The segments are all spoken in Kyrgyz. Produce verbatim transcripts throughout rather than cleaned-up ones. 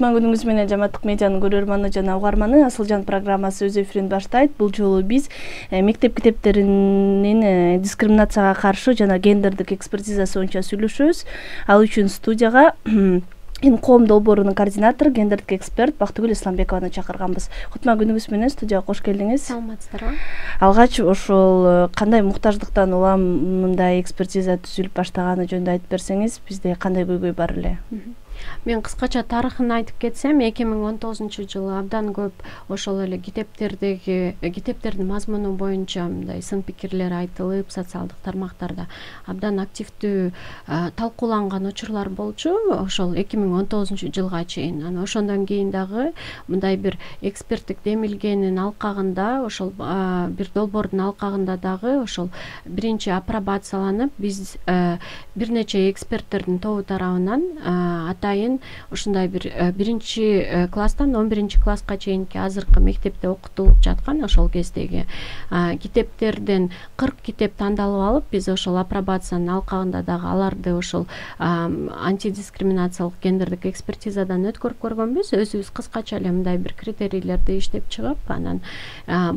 Кутман күнүңүз менен Жаматтык медианын көрөрманы жана угарманы. Асылжан программасы өз эфирин баштайт. Бул жолу биз мектеп китептеринин дискриминацияга каршы жана гендердик экспертизасы боюнча сүйлөшөбүз. Ал үчүн студияга Ин коом долбоорунун координатору, гендердик эксперт Бактыгүл Исламбекованы чакырганбыз. Кутман күнүңүз менен студияга кош келдиңиз. Саламатсыздарбы? Алгач ошол кандай муктаждыктан улам мындай экспертиза түзүлүп баштаганы жөнүндө айтып берсеңиз, бизде кандай көйгөй бар эле? Мен кыскача тарыхын айтып кетсем, эки миң он тогузунчу жылы абдан көп ошол эле китептердеги китептердин мазмуну боюнча мындай сын пикирлер айтылып, социалдык тармактарда абдан активдүү талкууланган учурлар болчу. Ошол эки миң он тогузунчу жылга чейин. Анан ошондон кийин дагы мындай бир эксперттик демилгенин алкагында, ошол бир долбоордун алкагында дагы ошол биринчи апробацияланып, биз бир нече эксперттердин тобу тарабынан атайын ушундай бир биринчи класстан он биринчи класска чейинки азыркы мектепте окутулуп жаткан ошол кездеги китептерден кырк китеп тандалып алып, биз ошол апробациянын алкагында дагы аларды ошол антидискриминациялык гендердик экспертизадан өткөрүп көргөнбүз. Өзүбүз кыскача эле мындай бир критерийлерди иштеп чыгып, анан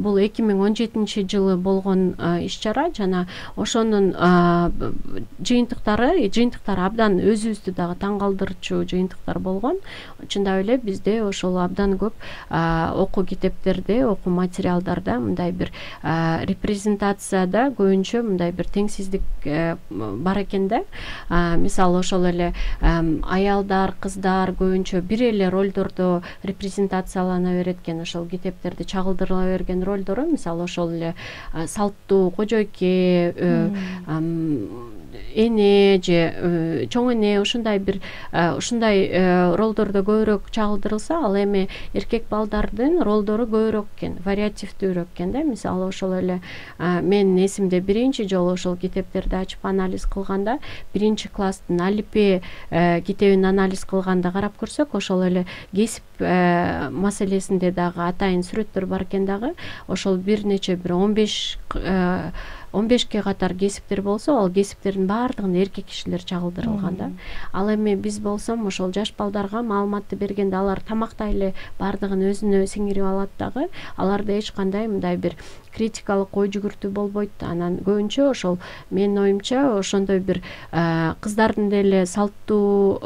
бул эки миң он жетинчи жылы болгон иш-чара жана ошонун жыйынтыктары жыйынтыктары абдан өзүбүздү дагы таң калтырчу жыйынтыктар болгон. Чындап эле бизде ошол абдан көп окуу китептерде, окуу материалдарда мындай бир репрезентацияда көбүнчө мындай бир теңсиздик бар экен да. Мисалы ошол эле аялдар, кыздар көбүнчө бир эле ролдордо репрезентациялана берет экен. Ошол китептерде чагылдырыла берген ролдору, мисалы ошол эле салттуу кожойке, эне же чоң эне, ушундай бир ушундай ролдордо көбүрөөк чагылдырылса, ал эми эркек балдардын ролдору көбүрөөк экен, вариативдүүрөөк экен да. Мисалы ошол эле менин эсимде биринчи жолу ошол китептерди ачып анализ кылганда, биринчи класстын алипе китебин анализ кылганда карап көрсөк, ошол эле кесип маселесинде дагы атайын сүрөттөр бар экен дагы. Ошол бир нече бир он беш он бешке катар кесиптер болсо, ал кесиптердин баардыгын эркек кишилер чагылдырылган да. Ал эми биз болсом ошол жаш балдарга маалыматты бергенде алар тамактай эле баардыгын өзүнө сиңирип алат дагы. Аларда эч кандай мындай бир критикалык ой жүгүртүү болбойт. Анан көбүнчө ошол менин оюмча ошондой бир кыздардын деле салттуу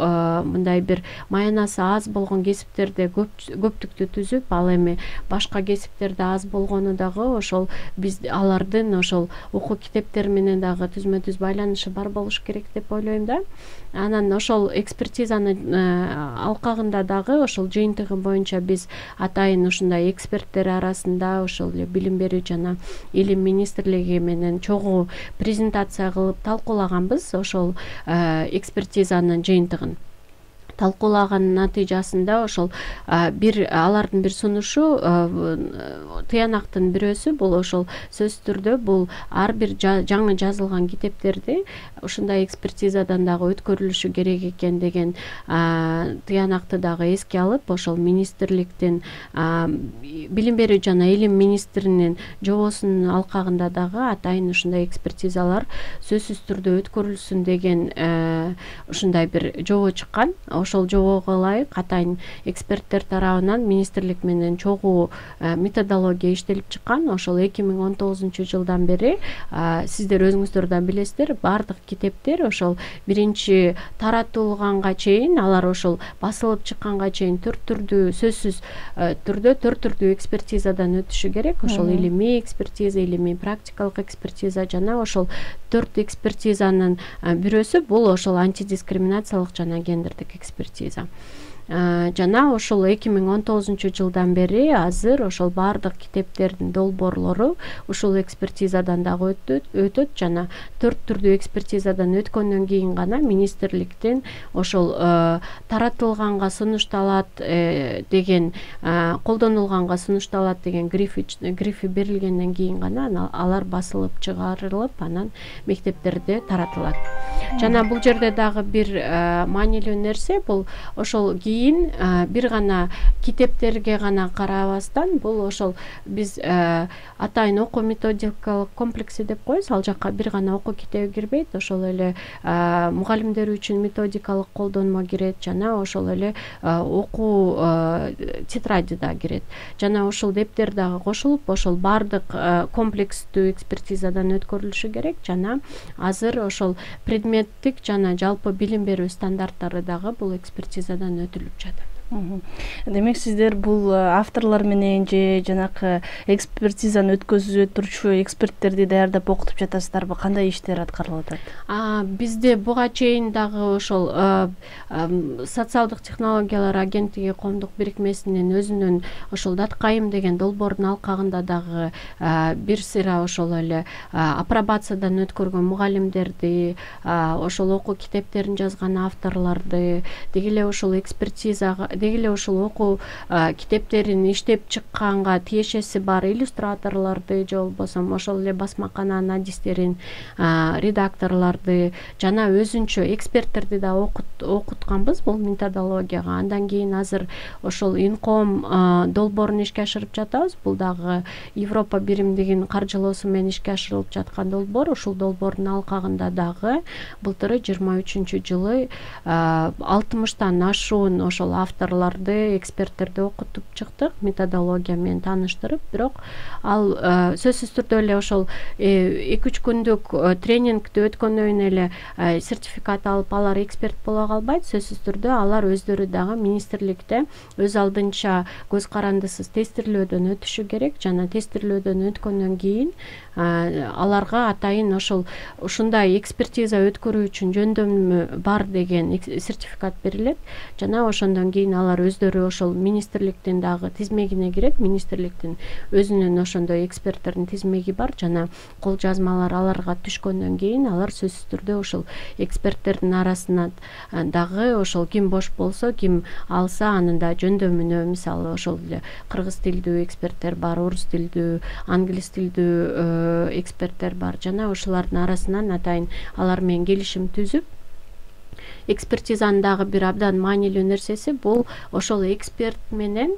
мындай бир маянасы аз болгон кесиптерде көптүктү түзүп, ал эми башка кесиптерде аз болгону дагы ошол биз алардын ошол окуу китептери менен дагы түзмө түз байланышы бар болуш керек деп ойлойм да. Анан ошол экспертизанын алкагында дагы ошол жыйынтыгы боюнча биз атайын ушундай эксперттер арасында ошол эле билим берүү жана илим министрлиги менен чогуу презентация кылып талкуулаганбыз ошол экспертизанын жыйынтыгын. Талкуулагандын натыйжасында ошол бир алардын бир сунушу, тыянактын бирөөсү бул ошол сөзсүз түрдө бул ар бир жаңы жазылган китептерди ушундай экспертизадан дагы өткөрүлүшү керек экен деген тыянакты дагы эске алып, ошол министрликтин билим берүү жана илим министринин жобосунун алкагында дагы атайын ушундай экспертизалар сөзсүз түрдө өткөрүлсүн деген ушундай бир жобо чыккан. Ошол жобого ылайык атайын эксперттер тарабынан министрлик менен чогуу методология иштелип чыккан. Ошол эки миң он тогузунчу жылдан бери сиздер өзүңүздөр да билесиздер, баардык китептер ошол биринчи таратылганга чейин, алар ошол басылып чыкканга чейин төрт түрдүү сөзсүз түрдө төрт түрдүү экспертизадан өтүшү керек. Ошол илимий экспертиза, илимий практикалык экспертиза жана ошол төрт экспертизанын бирөөсү бул ошол антидискриминациялык жана гендердик экспертиза. Жана ошол эки миң он тогузунчу жылдан бери азыр ошол баардык китептердин долбоорлору ушул экспертизадан дагы өтөт жана төрт түрдүү экспертизадан өткөндөн кийин гана министрликтин ошол таратылганга сунушталат деген, колдонулганга сунушталат деген грифи грифи берилгенден кийин гана алар басылып чыгарылып, анан мектептерде таратылат. Жана бул жерде дагы бир маанилүү нерсе бул ошол кийин бир гана китептерге гана карабастан бул ошол биз атайын окуу методикалык комплекси деп коебуз. Ал жакка бир гана окуу китеби кирбейт, ошол эле мугалимдер үчүн методикалык колдонмо кирет, жана ошол эле окуу тетради да кирет. Жана ошол дептер дагы кошулуп, ошол баардык комплекстүү экспертизадан өткөрүлүшү керек. Жана азыр ошол предметтик жана жалпы билим берүү стандарттары дагы бул экспертизадан өтүлүп жатат. Демек сиздер бул авторлор менен же жанакы экспертизаны өткөзүп турчу эксперттерди даярдап окутуп жатасыздарбы? Кандай иштер аткарылып атат? Бизде буга чейин дагы ошол социалдык технологиялар агенттиги коомдук бирикмесинин өзүнүн ошол Даткайым деген долбоордун алкагында дагы бир сыйра ошол эле апробациядан өткөргөн мугалимдерди, ошол окуу китептерин жазган авторлорду, деги эле ошол экспертизага, деги эле ошол окуу китептерин иштеп чыкканга тиешеси бар иллюстраторлорду же болбосо ошол эле басмакананын адистерин, редакторлорду жана өзүнчө эксперттерди да окутканбыз бул методологияга. Андан кийин азыр ошол Инком долбоорун ишке ашырып жатабыз. Бул дагы Европа биримдигинин каржылоосу менен ишке ашырылып жаткан долбоор. Ушул долбоордун алкагында дагы былтыры жыйырма үчүнчү жылы алтымыштан ашуун ошол авторлорду, эксперттерди окутуп чыктык, методология менен тааныштырып. Бирок ал сөзсүз түрдө эле ошол эки үч күндүк тренингди өткөндөн кийин эле сертификат алып алар эксперт боло калбайт. Сөзсүз түрдө алар өздөрү дагы министрликте өз алдынча көз карандысыз тестирлөөдөн өтүшү керек. Жана тестирлөөдөн өткөндөн кийин аларга атайын ошол ушундай экспертиза өткөрүү үчүн жөндөмү бар деген сертификат берилет. Жана ошондон кийин алар өздөрү ошол министрликтин дагы тизмегине кирет. Министрликтин өзүнүн ошондой эксперттердин тизмеги бар. Жана кол жазмалар аларга түшкөндөн кийин алар сөзсүз түрдө ошол эксперттердин арасына дагы ошол ким бош болсо, ким алса анын да жөндөмүнө, мисалы ошол эле кыргыз тилдүү эксперттер бар, орус тилдүү, англис тилдүү эксперттер бар. Жана ошолордун арасынан атайын алар менен келишим түзүп, экспертизанын дагы бир абдан маанилүү нерсеси бул ошол эксперт менен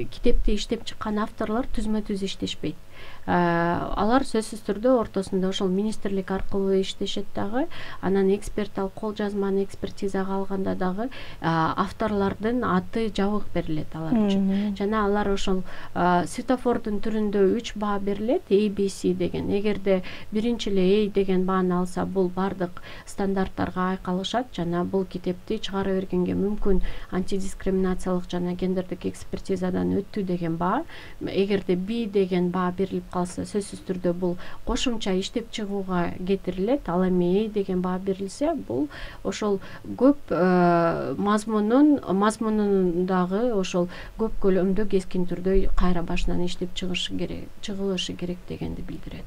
китепти иштеп чыккан авторлор түзмө-түз иштешпейт. Алар сөзсүз түрдө ортосунда ошол министрлик аркылуу иштешет дагы. Анан эксперт ал кол жазманы экспертизага алганда дагы авторлордун аты, жабык берилет алар үчүн. Жана алар ошол светофордун түрүндө үч баа берилет, A B C деген. Эгерде биринчи эле A деген бааны алса, бул бардык стандарттарга айкалышат. Жана бул китепти чыгара бергенге мүмкүн антидискриминациялык жана гендердик экспертизадан өттү деген баа. Эгерде B деген баа берилип калса, сөзсүз түрдө бул кошумча иштеп чыгууга кетирилет. Ал эми деген баа берилсе, бул ошол көп мазмунун мазмунун дагы ошол көп көлөмдө кескин түрдө кайра башынан иштеп чыгышы керек, чыгылышы керек дегенди билдирет.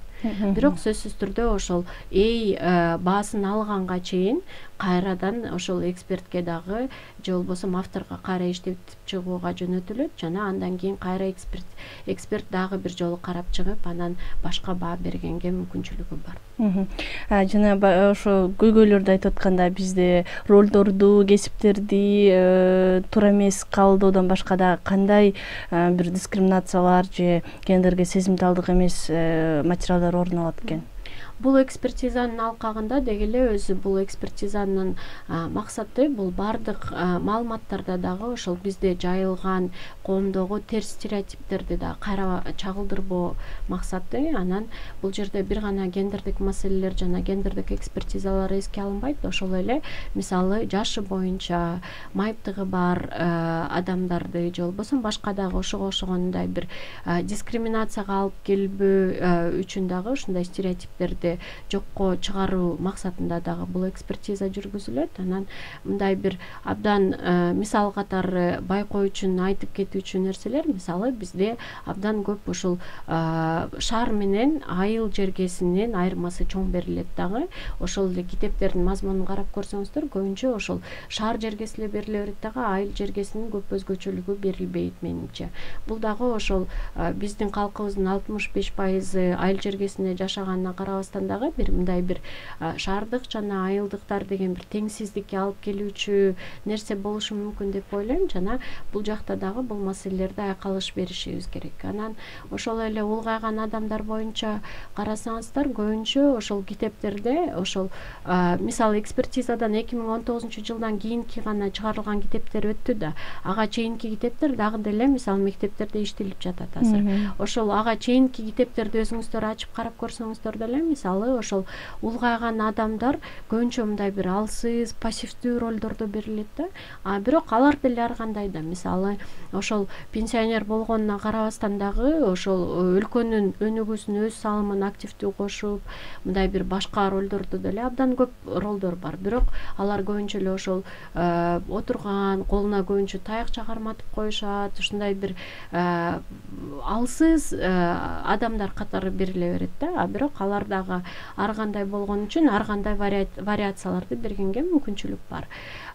Бирок сөзсүз түрдө ошол A баасын алганга чейин кайрадан ошол экспертке дагы же болбосо авторго кайра иштеп чыгууга жөнөтүлөт. Жана андан кийин кайра эксперт эксперт дагы бир жолу карап чыгып, анан башка баа бергенге мүмкүнчүлүгү бар. Жана ошо көйгөйлөрдү айтып атканда бизде ролдорду, кесиптерди туура эмес кабылдоодон башка да кандай бир дискриминациялар же гендерге сезимталдык эмес материалдар орун алат экен? Бул экспертизанын алкагында деги эле өзү бул экспертизанын максаты бул бардык маалыматтарда дагы ошол бизде жайылган коомдогу терс стереотиптерди да кайра чагылдырбоо максаты. Анан бул жерде бир гана гендердик маселелер жана гендердик экспертизалар эске алынбайт. Ошол эле мисалы жашы боюнча майыптыгы бар адамдарды же болбосо башка дагы ошого окшогондой бир дискриминацияга алып келбөө үчүн дагы ушундай стереотиптерди жокко чыгаруу максатында дагы бул экспертиза жүргүзүлөт. Анан мындай бир абдан мисал катары байкоо үчүн айтып кетүүчү нерселер, мисалы бизде абдан көп ушул шаар менен айыл жергесинин айырмасы чоң берилет дагы. Ошол эле китептердин мазмунун карап көрсөңүздөр, көбүнчө ошол шаар жергеси эле бериле берет дагы, айыл жергесинин көп өзгөчөлүгү берилбейт менимче. Бул дагы ошол биздин калкыбыздын алтымыш беш пайызы айыл жергесинде жашаганына карабастан карабастан дагы бир мындай бир шаардык жана айылдыктар деген бир теңсиздикке алып келүүчү нерсе болушу мүмкүн деп ойлойм. Жана бул жакта дагы бул маселелерди айкалыш беришибиз керек. Анан ошол эле улгайган адамдар боюнча карасаңыздар, көбүнчө ошол китептерде ошол мисалы экспертизадан эки миң он тогузунчу жылдан кийинки гана чыгарылган китептер өттү да, ага чейинки китептер дагы деле мисалы мектептерде иштелип жатат азыр. Ошол ага чейинки китептерди өзүңүздөр ачып карап көрсөңүздөр деле мисалы ошол улгайган адамдар көбүнчө мындай бир алсыз, пассивдүү ролдордо берилет да. А бирок алар деле ар кандай да, мисалы ошол пенсионер болгонуна карабастан дагы ошол өлкөнүн өнүгүүсүнө өз салымын активдүү кошуп, мындай бир башка ролдордо деле абдан көп ролдор бар. Бирок алар көбүнчө эле ошол отурган, колуна көбүнчө таяк чагарматып коюшат, ушундай бир алсыз адамдар катары бериле берет да. А бирок алар дагы ар кандай болгон үчүн ар кандай вариацияларды бергенге мүмкүнчүлүк бар.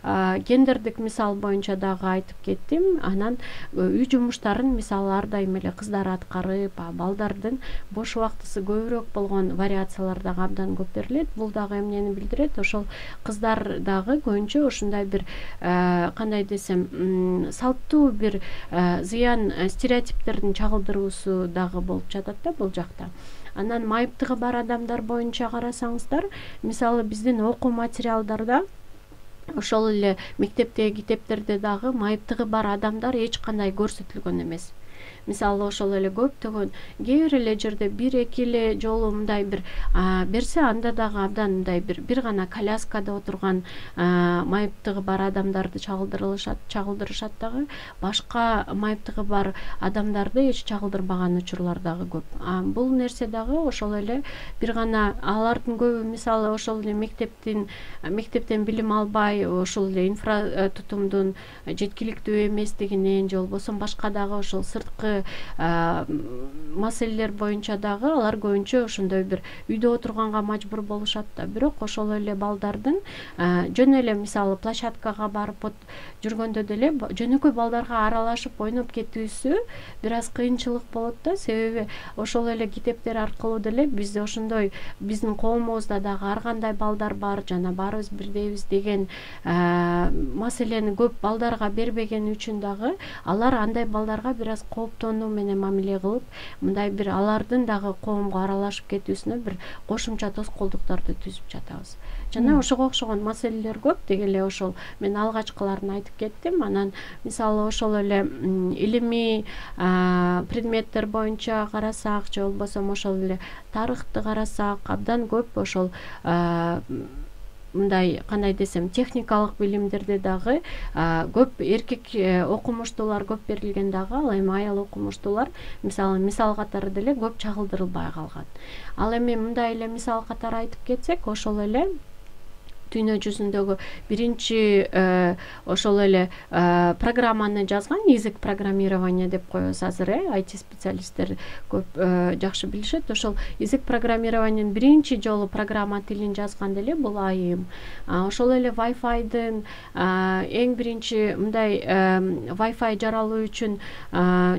Гендердик мисал боюнча дагы айтып кеттим. Анан үй жумуштарын мисалы ар дайым эле кыздар аткарып, балдардын бош убактысы көбүрөөк болгон вариациялар дагы абдан көп берилет. Бул дагы эмнени билдирет? Ошол кыздар дагы көбүнчө ушундай бир кандай десем, салттуу бир зыян стереотиптердин чагылдыруусу дагы болуп жатат да бул жакта. Анан майыптыгы бар адамдар боюнча карасаңыздар, мисалы биздин окуу материалдарда ошол эле мектептеги китептерде дагы майыптыгы бар адамдар эч кандай көрсөтүлгөн эмес. Мисалы ошол эле көптөгөн кээ бир эле жерде бир эки эле жолу мындай бир берсе, анда дагы абдан мындай бир бир гана коляскада отурган майыптыгы бар адамдарды чагылдырылышат, чагылдырышат дагы, башка майыптыгы бар адамдарды эч чагылдырбаган учурлар дагы көп. Бул нерсе дагы ошол эле бир гана алардын көбү мисалы ошол эле мектептин мектептен билим албай, ошол эле инфра тутумдун жеткиликтүү эместигинен же болбосо башка дагы ошол сырткы маселелер боюнча дагы алар көбүнчө ошондой бир үйдө отурганга мажбур болушат да. Бирок ошол эле балдардын жөн эле мисалы площадкага барып жүргөндө деле жөнөкөй балдарга аралашып ойноп кетүүсү бир аз кыйынчылык болот да. Себеби ошол эле китептер аркылуу деле биз ошондой биздин коомубузда дагы ар кандай балдар бар, жана баарыбыз бирдейбиз деген маселени көп балдарга бербеген үчүн дагы алар андай балдарга бир аз кооптонуу менен мамиле кылып, мындай бир алардын дагы коомго аралашып кетүүсүнө бир кошумча тоскоолдуктарды түзүп жатабыз. Жана ошого окшогон маселелер көп. Деги эле ошол мен алгачкыларын айтып кеттим. Анан мисалы ошол эле илимий предметтер боюнча карасак, же болбосо ошол эле тарыхты карасак, абдан көп ошол мындай кандай десем, техникалык билимдерде дагы көп эркек окумуштуулар көп берилген дагы, ал эми аял окумуштуулар мисалы мисал катары деле көп чагылдырылбай калган. Ал эми мындай эле мисал катары айтып кетсек, ошол эле дүйнө жүзүндөгү биринчи ошол эле программаны жазган, язык программирования деп коебуз азыр, э ай ти специалисттер көп жакшы билишет. Ошол язык программированиянын биринчи жолу программа тилин жазган деле бул айым. Ошол эле Wi-Fi'дын эң биринчи мындай Wi-Fi жаралуу үчүн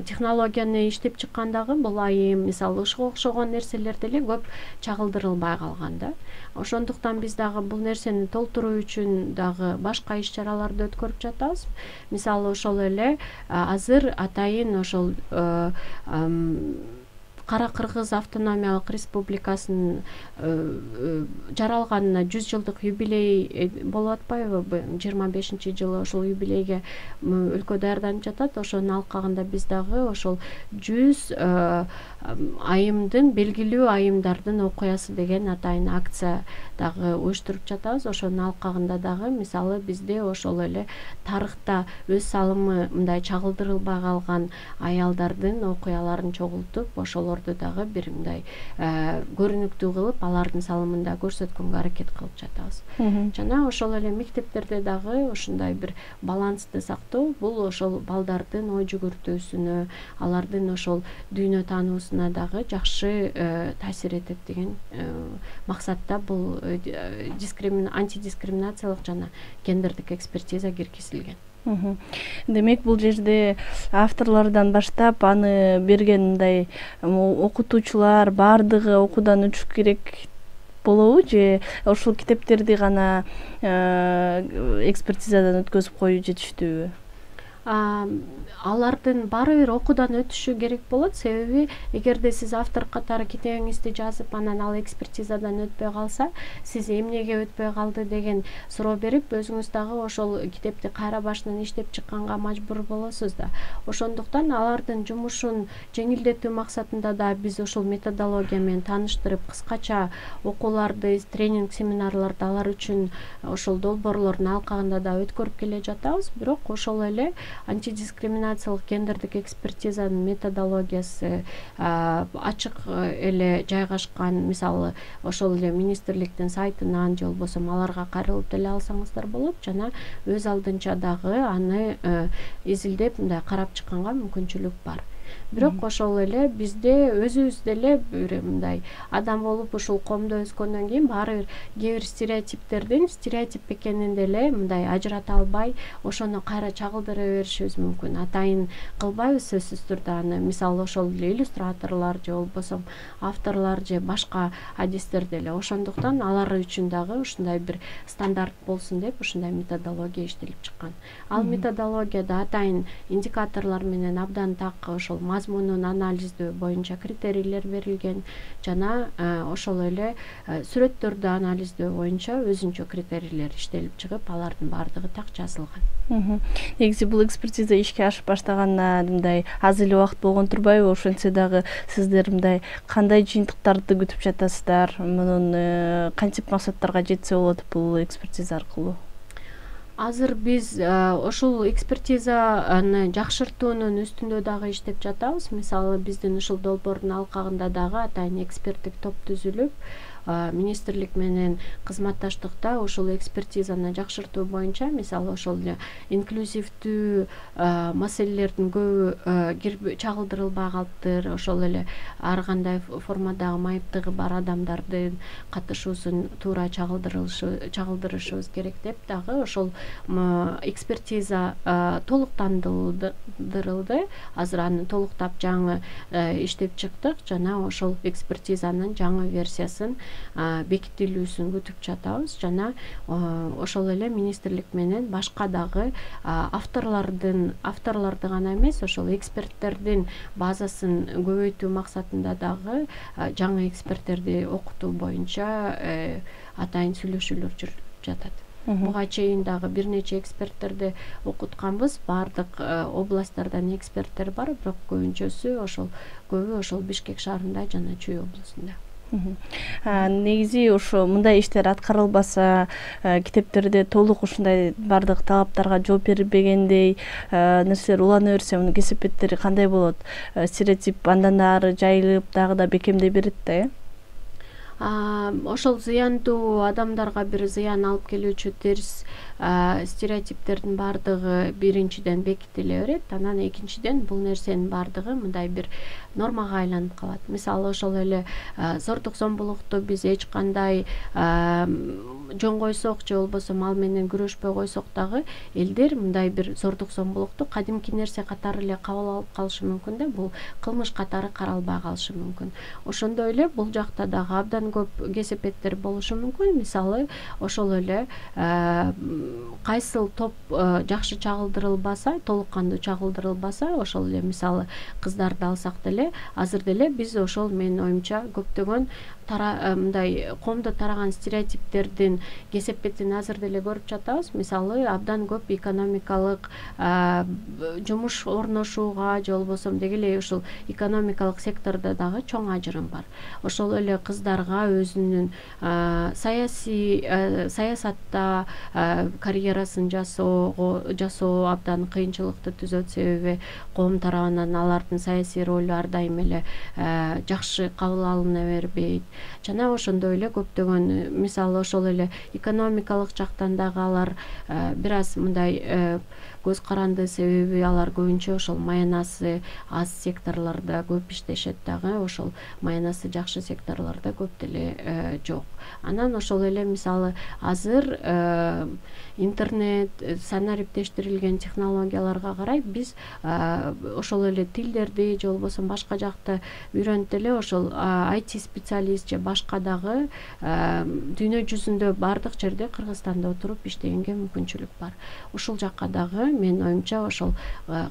технологияны иштеп чыккан дагы бул айым. Мисалы ушуга окшогон нерселер деле көп чагылдырылбай калган да. Ошондуктан биз дагы бул нерсени толтуруу үчүн дагы башка иш чараларды өткөрүп жатабыз. Мисалы ошол эле азыр атайын ошол Кара Кыргыз автономиялык республикасынын жаралганына жүз жылдык юбилей болуп атпайбы? жыйырма бешинчи жылы ошол юбилейге өлкө даярданып жатат. Ошонун алкагында биз дагы ошол жүз айымдын, белгилүү айымдардын окуясы деген атайын акция дагы уюштуруп жатабыз. Ошонун алкагында дагы мисалы бизде ошол эле тарыхта өз салымы мындай чагылдырылбай калган аялдардын окуяларын чогултуп, ошолорду дагы бир мындай көрүнүктүү кылып, алардын салымын да көрсөткөнгө аракет кылып жатабыз. Жана ошол эле мектептерде дагы ушундай бир балансты сактоо, бул ошол балдардын ой жүгүртүүсүнө, алардын ошол дүйнө таануусуна дагы жакшы таасир этет деген максатта бул антидискриминациялык жана гендердик экспертиза киргизилген. Демек бул жерде авторлордон баштап аны берген мындай окутуучулар баардыгы окуудан өтүш керек болобу же ушул китептерди гана экспертизадан өткөзүп коюу жетиштүүбү? Алардын баары бир окуудан өтүшү керек болот, себеби эгерде сиз автор катары китебиңизди жазып, анан ал экспертизадан өтпөй калса, сиз эмнеге өтпөй калды деген суроо берип, өзүңүз дагы ошол китепти кайра башынан иштеп чыкканга мажбур болосуз да. Ошондуктан алардын жумушун жеңилдетүү максатында да биз ошол методология менен тааныштырып, кыскача окууларды, тренинг семинарларды алар үчүн ошол долбоорлордун алкагында да өткөрүп келе жатабыз. Бирок ошол эле антидискриминациялык гендердик экспертизанын методологиясы ачык эле жайгашкан, мисалы ошол эле министрликтин сайтынан же болбосо аларга кайрылып деле алсаңыздар болот, жана өз алдынча дагы аны изилдеп мындай карап чыкканга мүмкүнчүлүк бар. Бирок ошол эле бизде өзүбүз деле бир мындай адам болуп ушул коомдо өскөндөн кийин баары бир кээ бир стереотиптердин стереотип экенин деле мындай ажырата албай, ошону кайра чагылдыра беришибиз мүмкүн. Атайын кылбайбыз сөзсүз турда аны. Мисалы ошол эле иллюстраторлор же болбосо авторлор же башка адистер деле. Ошондуктан алар үчүн дагы ушундай бир стандарт болсун деп ушундай методология иштелип чыккан. Ал методологияда атайын индикаторлор менен абдан так ошол мазмунун анализдөө боюнча критерийлер берилген, жана ошол эле сүрөттөрдү анализдөө боюнча өзүнчө критерийлер иштелип чыгып, алардын баардыгы так жазылган. Негизи бул экспертиза ишке ашып баштаганына мындай аз эле убакыт болгон турбайбы? Ошентсе дагы сиздер мындай кандай жыйынтыктарды күтүп жатасыздар? Мунун кантип максаттарга жетсе болот бул экспертиза аркылуу? Азыр биз ошол экспертизаны жакшыртуунун үстүндө дагы иштеп жатабыз. Мисалы биздин ушул долбоордун алкагында дагы атайын эксперттик топ түзүлүп, министрлик менен кызматташтыкта ошол экспертизаны жакшыртуу боюнча, мисалы ошол инклюзивдүү маселелердин көбү чагылдырылбай калыптыр. Ошол эле ар кандай формадагы майыптыгы бар адамдардын катышуусун туура чагылдырышыбыз керек деп дагы ошол экспертиза толуктандырылды. Азыр аны толуктап жаңы иштеп чыктык, жана ошол экспертизанын жаңы версиясын бекитилүүсүн күтүп жатабыз, жана ошол эле министрлик менен башка дагы авторлордун авторлорду гана эмес, ошол эксперттердин базасын көбөйтүү максатында дагы жаңы эксперттерди окутуу боюнча атайын сүйлөшүүлөр жүрүп жатат. Буга чейин дагы бир нече эксперттерди окутканбыз. Баардык областтардан эксперттер бар, бирок көбүнчөсү ошол көбү ошол Бишкек шаарында жана Чүй облусунда. Негизи ошо мындай иштер аткарылбаса, китептерде толук ушундай бардык талаптарга жооп берилбегендей нерселер улана берсе, мунун кесепеттери кандай болот? Стереотип андан ары жайылып, дагы да бекемдей берет да, э? Ошол зыяндуу адамдарга бир зыян алып келүүчү терс стереотиптердин баардыгы биринчиден бекитиле берет, анан экинчиден бул нерсенин баардыгы мындай бир нормага айланып калат. Мисалы ошол эле зордук зомбулукту биз эч кандай жөн койсок же болбосо ал менен күрөшпөй койсок дагы элдер мындай бир зордук зомбулукту кадимки нерсе катары эле кабыл алып калышы мүмкүн да, бул кылмыш катары каралбай калышы мүмкүн. Ошондой эле бул жакта дагы абдан көп кесепеттер болушу мүмкүн. Мисалы ошол эле кайсыл топ жакшы чагылдырылбаса, толук кандуу чагылдырылбаса, ошол эле мисалы кыздарды алсак деле, азыр деле биз ошол менин оюмча көптөгөн мындай коомдо тараган стереотиптердин кесепетин азыр деле көрүп жатабыз. Мисалы абдан көп экономикалык жумуш орношууга же болбосо деги эле ушул экономикалык сектордо дагы чоң ажырым бар. Ошол эле кыздарга өзүнүн саясий саясатта карьерасын жасоого жасоо абдан кыйынчылыкты түзөт, себеби коом тарабынан алардын саясий ролу ар дайым эле жакшы кабыл алына бербейт. Жана ошондой эле көптөгөн, мисалы ошол эле экономикалык жактан дагы алар бир аз мындай көз каранды, себеби алар көбүнчө ошол маянасы аз секторлордо көп иштешет дагы, ошол маянасы жакшы секторлордо көп деле жок. Анан ошол эле мисалы азыр интернет, санариптештирилген технологияларга карай биз ошол эле тилдерди же болбосо башка жакта үйрөнүп эле ошол ай ти специалист же башка дагы дүйнө жүзүндө баардык жерде Кыргызстанда отуруп иштегенге мүмкүнчүлүк бар. Ушул жакка дагы менин оюмча ошол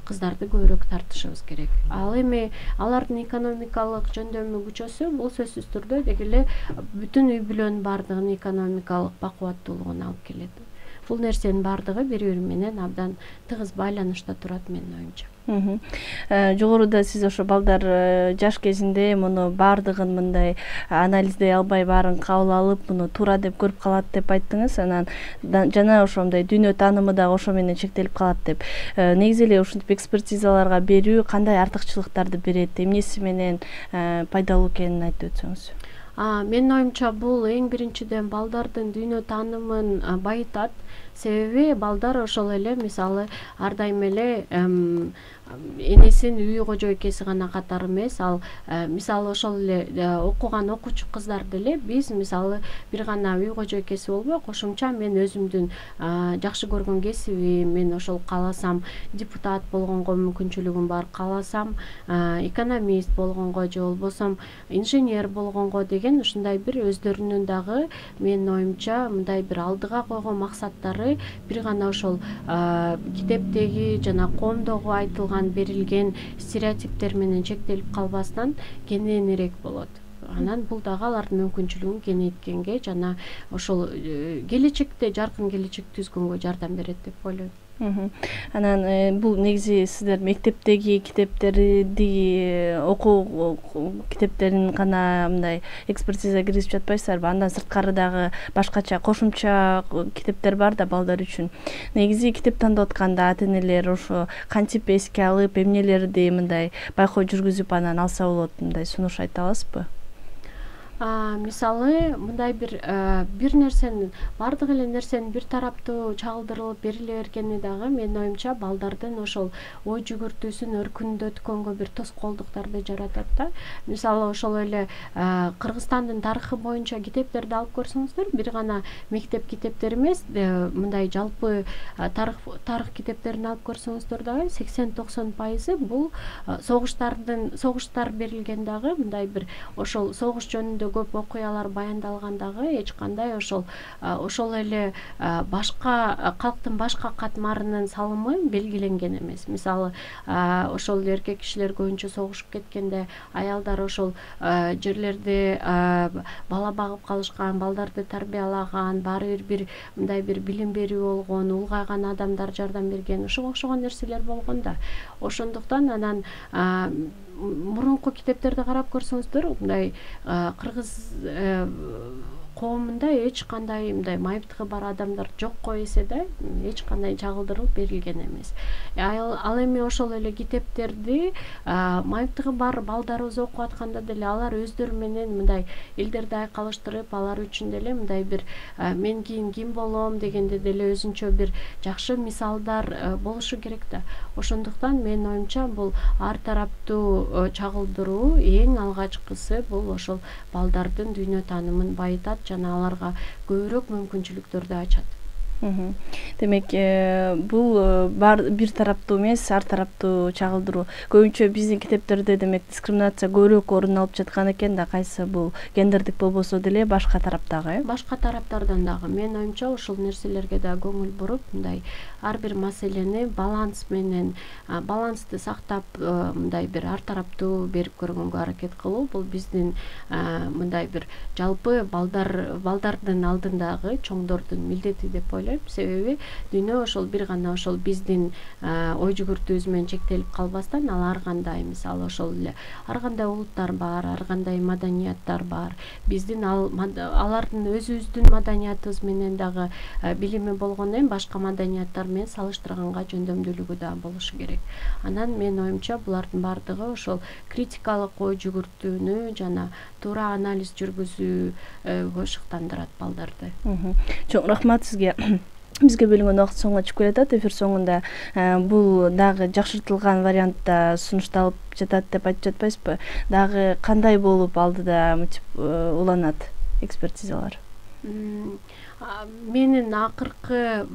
кыздарды көбүрөөк тартышыбыз керек. Ал эми алардын экономикалык жөндөмү күчөсө, бул сөзсүз түрдө деги эле бүтүн үй бүлөнүн баардыгынын экономикалык бакубаттуулугуна алып келет. Бул нерсенин баардыгы бири бири менен абдан тыгыз байланышта турат менин оюмча. Жогоруда сиз ошо балдар жаш кезинде муну баардыгын мындай анализдей албай баарын кабыл алып, муну туура деп көрүп калат деп айттыңыз. Анан жана ошондой дүйнө таанымы дагы ошо менен чектелип калат деп. Негизи эле ушинтип экспертизаларга берүү кандай артыкчылыктарды берет, эмнеси менен пайдалуу экенин айтып өтсөңүз. Менин оюмча бул эң биринчиден балдардын дүйнө таанымын байытат. Себеби балдар ошол эле мисалы ар дайым эле энесин үй кожо экеси гана катары эмес, ал мисалы ошол эле окуган окуучу кыздар деле биз мисалы бир гана үй кожо экеси болбой, кошумча мен өзүмдүн жакшы көргөн кесибим, мен ошол кааласам депутат болгонго мүмкүнчүлүгүм бар, кааласам экономист болгонго же болбосо инженер болгонго деген ушундай бир өздөрүнүн дагы менин оюмча мындай бир алдыга койгон максаттары бир гана ошол китептеги жана коомдогу айтылган берилген стереотиптер менен чектелип калбастан кененирээк болот. Анан бул дагы алардын мүмкүнчүлүгүн кеңейткенге жана ошол келечекте жаркын келечек түзгөнгө жардам берет деп ойлойм. Анан бул негизи сиздер мектептеги китептерди окуу китептерин гана мындай экспертиза киргизип жатпайсыздарбы? Андан сырткары дагы башкача кошумча китептер бар да балдар үчүн. Негизи китеп тандап атканда ата-энелер ошо кантип эске алып, эмнелерди мындай байкоо жүргүзүп анан алса болот, мындай сунуш айта аласызбы? Мисалы мындай бир бир нерсенин баардык эле нерсенин бир тараптуу чагылдырылып бериле бергени дагы менин оюмча балдардын ошол ой жүгүртүүсүн өркүндөткөнгө бир тоскоолдуктарды жаратат да. Мисалы ошол эле Кыргызстандын тарыхы боюнча китептерди алып көрсөңүздөр, бир гана мектеп китептери эмес, мындай жалпы тарых тарых китептерин алып көрсөңүздөр дагы сексен токсон пайызы бул согуштардын согуштар берилген дагы мындай бир ошол согуш жөнүндө көп окуялар баяндалган дагы эч кандай ошол ошол эле башка калктын башка катмарынын салымы белгиленген эмес. Мисалы ошол эркек кишилер көбүнчө согушуп кеткенде аялдар ошол жерлерде бала багып калышкан, балдарды тарбиялаган, баары бир бир мындай бир билим берүү болгон, улгайган адамдар жардам берген, ошого окшогон нерселер болгон да. Ошондуктан анан мурунку китептерди карап көрсөңүздөр, мындай кыргыз коомунда эч кандай мындай майыптыгы бар адамдар жокко эсе да эч кандай чагылдырылып берилген эмес. Ал эми ошол эле китептерди майыптыгы бар балдарыбыз окуп атканда деле алар өздөрү менен мындай элдерди айкалыштырып, алар үчүн деле мындай бир мен кийин ким болом дегенде деле өзүнчө бир жакшы мисалдар болушу керек да. Ошондуктан менин оюмча бул ар тараптуу чагылдыруу эң алгачкысы бул ошол балдардын дүйнө таанымын байытат жана аларга көбүрөөк мүмкүнчүлүктөрдү ачат. Демек, бул бир тараптуу эмес, ар тараптуу чагылдыруу. Көбүнчө биздин китептерде демек дискриминация көбүрөөк орун алып жаткан экен да, кайсы бул гендердик болбосо деле башка тараптагы, э? Башка тараптардан дагы менин оюмча ошол нерселерге да көңүл буруп, мындай ар бир маселени баланс менен, балансты сактап, мындай бир ар тараптуу берип көргөнгө аракет кылуу бул биздин мындай бир жалпы балдар балдардын алдындагы чоңдордун милдети деп ойлойм. Себеби дүйнө ошол бир гана ошол биздин ой жүгүртүүбүз менен чектелип калбастан, ал ар кандай мисалы ошол эле ар кандай улуттар бар, ар кандай маданияттар бар. Биздин ал алардын өзүбүздүн маданиятыбыз менен дагы билими болгондон кийин башка маданияттар менен салыштырганга жөндөмдүүлүгү да болушу керек. Анан менин оюмча булардын баардыгы ошол критикалык ой жүгүртүүнү жана туура анализ жүргүзүүгө шыктандырат балдарды. Чоң рахмат сизге. Бизге бөлүнгөн убакыт соңуна чыгып келатат. Эфир соңунда бул дагы жакшыртылган вариантта сунушталып жатат деп айтып жатпайсызбы? Дагы кандай болуп алдыда уланат экспертизалар? менин акыркы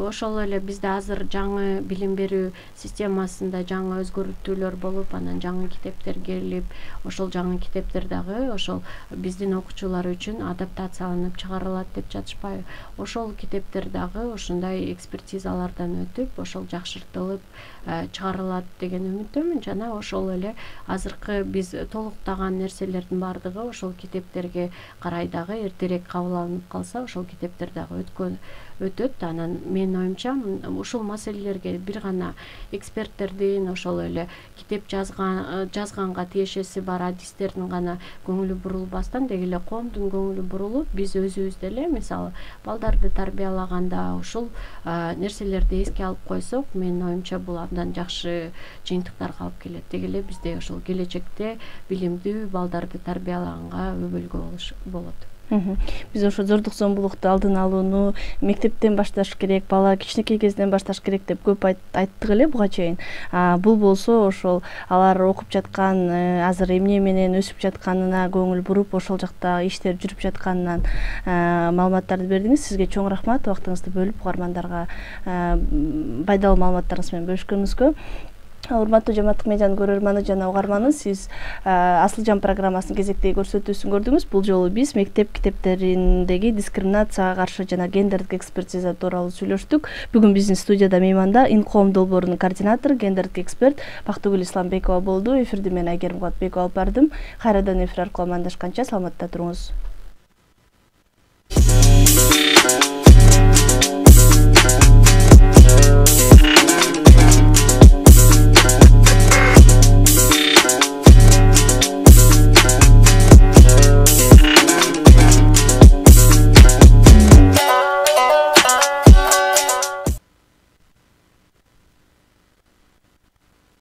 ошол эле бизде азыр жаңы билим берүү системасында жаңы өзгөртүүлөр болуп, анан жаңы китептер келип, ошол жаңы китептер дагы ошол биздин окуучулар үчүн адаптацияланып чыгарылат деп жатышпайбы. Ошол китептер дагы ушундай экспертизалардан өтүп, ошол жакшыртылып чыгарылат деген үмүттөмүн. Жана ошол эле азыркы биз толуктаган нерселердин баардыгы ошол китептерге карай дагы эртерээк кабыл алынып калса, ошол китептер дагы өткөн өтөт. Анан менин оюмча ушул маселелерге бир гана эксперттердин, ошол эле китеп жазган жазганга тиешеси бар адистердин гана көңүлү бурулбастан, деги эле коомдун көңүлү бурулуп, биз өзүбүз деле мисалы балдарды тарбиялаганда ушул нерселерди эске алып койсок, менин оюмча бул абдан жакшы жыйынтыктарга алып келет. Деги эле бизде ошол келечекте билимдүү балдарды тарбиялаганга өбөлгө болот. Биз ошо зордук зомбулукту алдын алууну мектептен башташ керек, бала кичинекей кезинен башташ керек деп көп айттык эле буга чейин. Бул болсо ошол алар окуп жаткан, азыр эмне менен өсүп жатканына көңүл буруп, ошол жакта иштер жүрүп жатканынан маалыматтарды бердиңиз. Сизге чоң рахмат, убактыңызды бөлүп угармандарга пайдалуу маалыматтарыңыз менен бөлүшкөнүңүзгө. Урматтуу Жамааттык медианын көрөрманы жана угарманы, сиз Асыл жан программасынын кезектеги көрсөтүүсүн көрдүңүз. Бул жолу биз мектеп китептериндеги дискриминацияга каршы жана гендердик экспертиза тууралуу сүйлөштүк. Бүгүн биздин студияда мейманда Инкоом долбоорунун координатору, гендердик эксперт Бактыгүл Исламбекова болду. Эфирди мен Айгерим Кубатбекова алып бардым. Кайрадан эфир аркылуу амандашканча саламатта туруңуз.